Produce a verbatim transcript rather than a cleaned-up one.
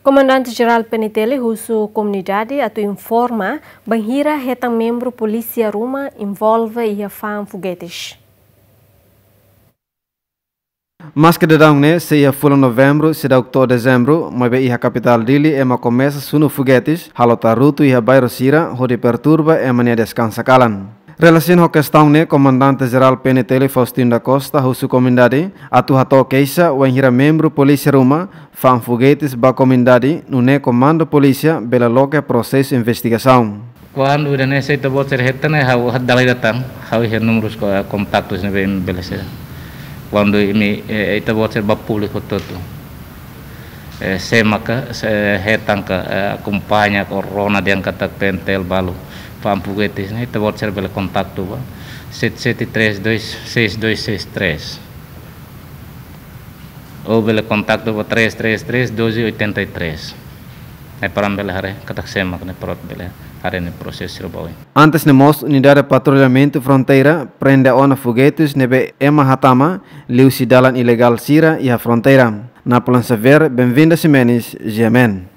Komandante Jerál P N T L husu komunidade atu informa bainhira hetan membru polísia ruma envolve iha fa'an fogetes. Maske daudaun ne'e sei iha fulan Novembru seidauk to'o Dezembru, maibé iha kapitál Dili ema komesa sunu fogetes halo tarutu iha bairru sira hodi perturba ema nia deskansa kalan. Relasiona ho kestaun ne'e, Komandante Jerál P N T L Faustino da Costa husu komunidade atu hato'o keixa wainhira membru polísia ruma fa'an fogetes ba komunidade, nune'e Komandu Polísia bele loke prosesu investigasaun. Kuandu ida-ne'e ita-boot sira hetan ne'e, ha'u dala ida tan, ha'u iha númerus ko-, kontaktus ne'ebé imi bele sei. Kuandu imi, eh, ita-boot sira ba públiku hotu-hotu. Eh, sé maka, sé hetan ka, eh, akompaña ka rona dehan katak P N T L balu fa'an fogetes ne'e, ita-boot sira bele kontaktu ba sete sete três dois seis dois seis três. Ou bele kontaktu ba três três três doze oitenta e três. Ne'e para ami bele haree katak sé mak ne'e para atu bele haree ne'e prosesu sira ba oin. Antes ne'e mós, Unidade Patrullamentu Fronteira prende ona fogetes ne'ebé ema hatama liuhusi dalan ilegál sira iha fronteira. Napoleon Xavier, Benvinda Ximenes, G M N.